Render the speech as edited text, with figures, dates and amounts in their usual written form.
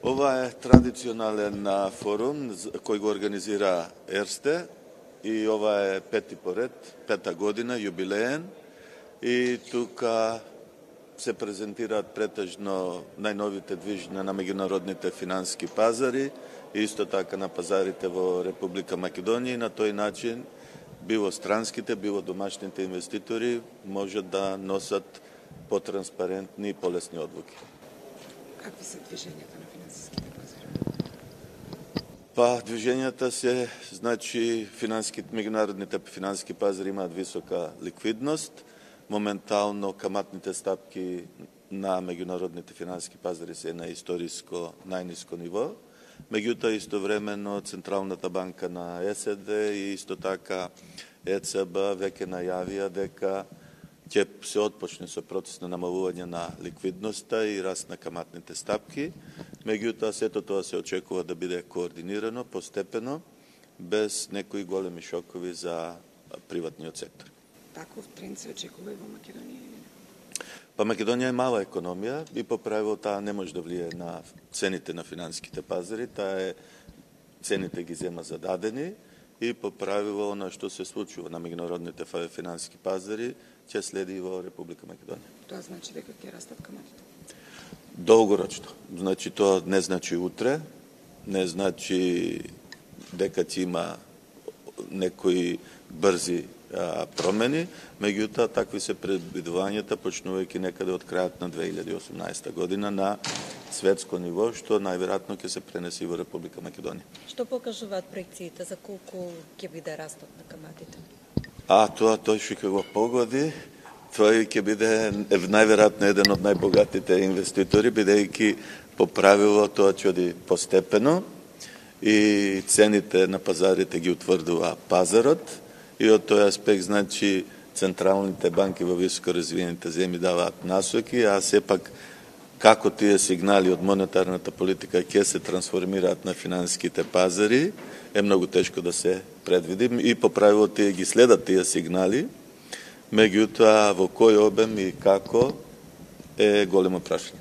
Ова е традиционален форум кој го организира Ерсте и ова е пети поред, пета година, юбилеен, и тука се презентираат претежно најновите движња на меѓународните финански пазари и исто така на пазарите во Република Македонија, и на тој начин било странските, било домашните инвеститори можат да носат потранспарентни и полесни одлуки. Какви се движењата на финансиските пазари? Движењата се, значи, меѓународните финански пазари имаат висока ликвидност. Моментално каматните стапки на меѓународните финански пазари се на историско најниско ниво. Меѓутоа, истовремено, Централната банка на САД и исто така ЕЦБ веќе најавија дека ќе се отпочне со процес на намалување на ликвидноста и раст на каматните стапки. Меѓутоа, сето тоа се очекува да биде координирано, постепено, без некои големи шокови за приватниот сектор. Таков тренд се очекува и во Македонија? Македонија е мала економија и по правило таа не може да влие на цените на финанските пазари, цените ги зема зададени и по правило она што се случува на меѓународните финански пазари ќе следи и во Република Македонија. Тоа значи дека ќе растат каматите? Долгорочно. Значи тоа не значи утре, не значи дека ќе има некои брзи промени, меѓутоа такви се предвидувањата почнувајќи некаде од крајот на 2018 година на светско ниво, што најверојатно ќе се пренеси во Република Македонија. Што покажуваат проекциите за колку ќе биде растот на каматите? Тој што го погоди, тој ќе биде најверојатно еден од најбогатите инвеститори, бидејќи по правило тоа ќе оди постепено и цените на пазарите ги утврдува пазарот. И од тој аспект, значи, централните банки во високо развиените земји даваат насоки, а сепак како тие сигнали од монетарната политика ќе се трансформираат на финансиските пазари, е многу тешко да се предвиди. И по правило тие ги следат тие сигнали, меѓутоа во кој обем и како е големо прашање.